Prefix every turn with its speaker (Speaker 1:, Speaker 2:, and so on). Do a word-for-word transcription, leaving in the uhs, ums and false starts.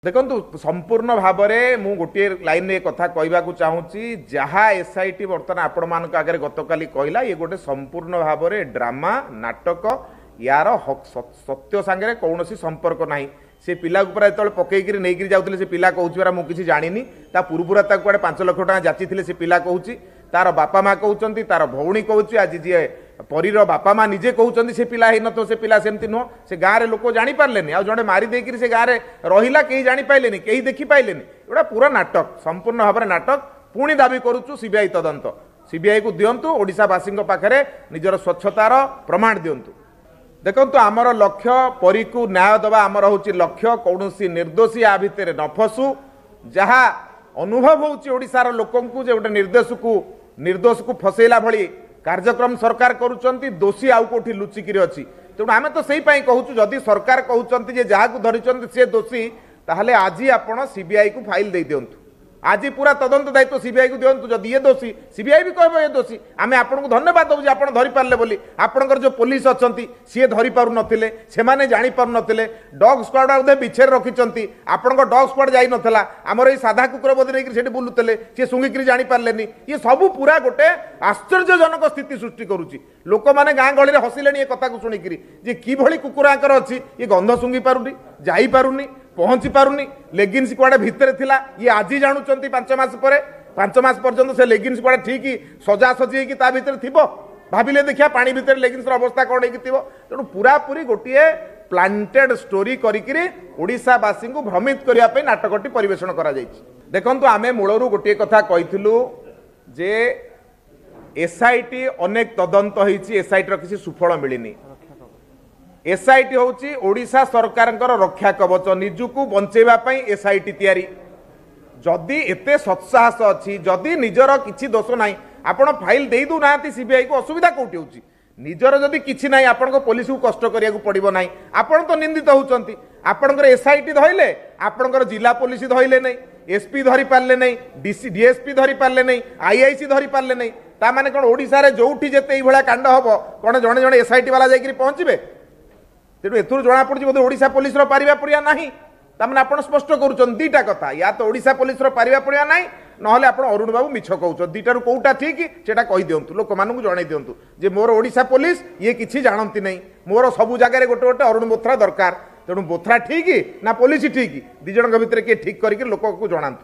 Speaker 1: ଦେଖନ୍ତୁ, ସମ୍ପୂର୍ଣ୍ଣ ଭାବରେ ମୁଁ ଗୋଟିଏ ଲାଇନରେ କଥା କହିବାକୁ ଚାହୁଁଛି। ଯାହା ଏସ୍ଆଇଟି ବର୍ତ୍ତମାନ ଆପଣମାନଙ୍କ ଆଗରେ ଗତକାଲି କହିଲା, ଇଏ ଗୋଟେ ସମ୍ପୂର୍ଣ୍ଣ ଭାବରେ ଡ୍ରାମା, ନାଟକ। ୟାର ସତ୍ୟ ସାଙ୍ଗରେ କୌଣସି ସମ୍ପର୍କ ନାହିଁ। ସେ ପିଲାକୁ ପୁରା ଯେତେବେଳେ ପକେଇକିରି ନେଇକିରି ଯାଉଥିଲେ, ସେ ପିଲା କହୁଛି ପରା ମୁଁ କିଛି ଜାଣିନି। ତା ପୂର୍ବରୁ ତାକୁ କୁଆଡ଼େ ପାଞ୍ଚ ଲକ୍ଷ ଟଙ୍କା ଯାଚିଥିଲେ, ସେ ପିଲା କହୁଛି, ତାର ବାପା ମା କହୁଛନ୍ତି, ତାର ଭଉଣୀ କହୁଛି। ଆଜି ଯିଏ ପରୀର ବାପା ମା ନିଜେ କହୁଛନ୍ତି ସେ ପିଲା ହେଇନଥିବ, ସେ ପିଲା ସେମିତି ନୁହଁ। ସେ ଗାଁରେ ଲୋକ ଜାଣିପାରିଲେନି, ଆଉ ଜଣେ ମାରି ଦେଇକିରି ସେ ଗାଁରେ ରହିଲା, କେହି ଜାଣିପାରିଲେନି, କେହି ଦେଖିପାରିଲେନି। ଏଗୁଡ଼ା ପୁରା ନାଟକ, ସମ୍ପୂର୍ଣ୍ଣ ଭାବରେ ନାଟକ। ପୁଣି ଦାବି କରୁଛୁ ସିବିଆଇ ତଦନ୍ତ, ସିବିଆଇକୁ ଦିଅନ୍ତୁ, ଓଡ଼ିଶାବାସୀଙ୍କ ପାଖରେ ନିଜର ସ୍ୱଚ୍ଛତାର ପ୍ରମାଣ ଦିଅନ୍ତୁ। ଦେଖନ୍ତୁ, ଆମର ଲକ୍ଷ୍ୟ ପରୀକୁ ନ୍ୟାୟ ଦେବା ଆମର ହେଉଛି ଲକ୍ଷ୍ୟ। କୌଣସି ନିର୍ଦ୍ଦୋଷୀ ଆ ଭିତରେ ନ ଫସୁ। ଯାହା ଅନୁଭବ ହେଉଛି ଓଡ଼ିଶାର ଲୋକଙ୍କୁ ଯେ ଗୋଟେ ନିର୍ଦ୍ଦୋଷକୁ ନିର୍ଦ୍ଦୋଷକୁ ଫସେଇଲା ଭଳି କାର୍ଯ୍ୟକ୍ରମ ସରକାର କରୁଛନ୍ତି, ଦୋଷୀ ଆଉ କୋଉଠି ଲୁଚିକିରି ଅଛି। ତେଣୁ ଆମେ ତ ସେଇ ପାଇଁ କହୁଛୁ, ଯଦି ସରକାର କହୁଛନ୍ତି ଯେ ଯାହାକୁ ଧରିଛନ୍ତି ସେ ଦୋଷୀ, ତାହେଲେ ଆଜି ଆପଣ ସିବିଆଇକୁ ଫାଇଲ ଦେଇ ଦିଅନ୍ତୁ। ଆଜି ପୁରା ତଦନ୍ତ ଦାୟିତ୍ୱ ସିବିଆଇକୁ ଦିଅନ୍ତୁ। ଯଦି ଇଏ ଦୋଷୀ, ସିବିଆଇ ବି କହିବ ଇଏ ଦୋଷୀ। ଆମେ ଆପଣଙ୍କୁ ଧନ୍ୟବାଦ ଦେବୁ ଯେ ଆପଣ ଧରିପାରିଲେ ବୋଲି। ଆପଣଙ୍କର ଯେଉଁ ପୋଲିସ ଅଛନ୍ତି ସିଏ ଧରିପାରୁନଥିଲେ, ସେମାନେ ଜାଣିପାରୁନଥିଲେ। ଡଗ୍ ସ୍କ୍ୱାଡ୍ ବୋଧେ ବିଛେରେ ରଖିଛନ୍ତି, ଆପଣଙ୍କ ଡଗ୍ ସ୍କ୍ୱାଡ୍ ଯାଇନଥିଲା। ଆମର ଏଇ ସାଧା କୁକୁର ବୋଧେ ନେଇକରି ସେଠି ବୁଲୁଥିଲେ, ସିଏ ଶୁଙ୍ଘିକିରି ଜାଣିପାରିଲେନି। ଇଏ ସବୁ ପୁରା ଗୋଟେ ଆଶ୍ଚର୍ଯ୍ୟଜନକ ସ୍ଥିତି ସୃଷ୍ଟି କରୁଛି। ଲୋକମାନେ ଗାଁ ଗହଳିରେ ହସିଲେଣି ଏ କଥାକୁ ଶୁଣିକିରି ଯେ କିଭଳି କୁକୁର ଆଙ୍କର ଅଛି, ଇଏ ଗନ୍ଧ ଶୁଙ୍ଘି ପାରୁନି, ଯାଇପାରୁନି, ପହଞ୍ଚି ପାରୁନି। ଲେଗିନ୍ସ କୁଆଡ଼େ ଭିତରେ ଥିଲା ଇଏ ଆଜି ଜାଣୁଛନ୍ତି ପାଞ୍ଚ ମାସ ପରେ। ପାଞ୍ଚ ମାସ ପର୍ଯ୍ୟନ୍ତ ସେ ଲେଗିନ୍ସ କୁଆଡ଼େ ଠିକ୍ ସଜାସଜି ହେଇକି ତା ଭିତରେ ଥିବ? ଭାବିଲେ ଦେଖିବା ପାଣି ଭିତରେ ଲେଗିନ୍ସର ଅବସ୍ଥା କ'ଣ ହେଇକି ଥିବ। ତେଣୁ ପୁରାପୁରି ଗୋଟିଏ ପ୍ଲାଣ୍ଟେଡ୍ ଷ୍ଟୋରି କରିକିରି ଓଡ଼ିଶାବାସୀଙ୍କୁ ଭ୍ରମିତ କରିବା ପାଇଁ ନାଟକଟି ପରିବେଷଣ କରାଯାଇଛି। ଦେଖନ୍ତୁ, ଆମେ ମୂଳରୁ ଗୋଟିଏ କଥା କହିଥିଲୁ ଯେ ଏସ୍ଆଇଟି ଅନେକ ତଦନ୍ତ ହେଇଛି, ଏସ୍ଆଇଟିର କିଛି ସୁଫଳ ମିଳିନି। ଏସ୍ଆଇଟି ହେଉଛି ଓଡ଼ିଶା ସରକାରଙ୍କର ରକ୍ଷା କବଚ, ନିଜକୁ ବଞ୍ଚେଇବା ପାଇଁ ଏସ୍ଆଇଟି ତିଆରି। ଯଦି ଏତେ ସତ୍ସାହସ ଅଛି, ଯଦି ନିଜର କିଛି ଦୋଷ ନାହିଁ, ଆପଣ ଫାଇଲ ଦେଇ ଦେଉନାହାନ୍ତି ସିବିଆଇକୁ, ଅସୁବିଧା କୋଉଠି ହେଉଛି? ନିଜର ଯଦି କିଛି ନାହିଁ, ଆପଣଙ୍କ ପୋଲିସକୁ କଷ୍ଟ କରିବାକୁ ପଡ଼ିବ ନାହିଁ। ଆପଣ ତ ନିନ୍ଦିତ ହେଉଛନ୍ତି। ଆପଣଙ୍କର ଏସ୍ଆଇଟି ଧଇଲେ, ଆପଣଙ୍କର ଜିଲ୍ଲା ପୋଲିସ ଧଇଲେ ନାହିଁ, ଏସ୍ପି ଧରି ପାରିଲେ ନାହିଁ, ଡିସି ଡିଏସ୍ପି ଧରି ପାରିଲେ ନାହିଁ, ଆଇଆଇସି ଧରି ପାରିଲେ ନାହିଁ। ତା ମାନେ କ'ଣ ଓଡ଼ିଶାରେ ଯୋଉଠି ଯେତେ ଏଇଭଳିଆ କାଣ୍ଡ ହବ, କ'ଣ ଜଣେ ଜଣେ ଏସ୍ଆଇଟି ବାଲା ଯାଇକରି ପହଞ୍ଚିବେ? ତେଣୁ ଏଥିରୁ ଜଣାପଡ଼ୁଛି ବୋଧେ ଓଡ଼ିଶା ପୋଲିସର ପାରିବା ପଡ଼ିଆ ନାହିଁ। ତାମାନେ ଆପଣ ସ୍ପଷ୍ଟ କରୁଛନ୍ତି ଦୁଇଟା କଥା, ୟା ତ ଓଡ଼ିଶା ପୋଲିସର ପାରିବା ପଡ଼ିଆ ନାହିଁ, ନହେଲେ ଆପଣ ଅରୁଣ ବାବୁ ମିଛ କହୁଛନ୍ତି। ଦୁଇଟାରୁ କୋଉଟା ଠିକ୍ ସେଇଟା କହିଦିଅନ୍ତୁ, ଲୋକମାନଙ୍କୁ ଜଣାଇ ଦିଅନ୍ତୁ ଯେ ମୋର ଓଡ଼ିଶା ପୋଲିସ ଇଏ କିଛି ଜାଣନ୍ତି ନାହିଁ, ମୋର ସବୁ ଜାଗାରେ ଗୋଟେ ଗୋଟେ ଅରୁଣ ବୋଥ୍ରା ଦରକାର। ତେଣୁ ବୋଥ୍ରା ଠିକ୍ ନା ପୋଲିସ ଠିକ୍, ଦୁଇ ଜଣଙ୍କ ଭିତରେ କିଏ ଠିକ୍ କରିକି ଲୋକକୁ ଜଣାନ୍ତୁ।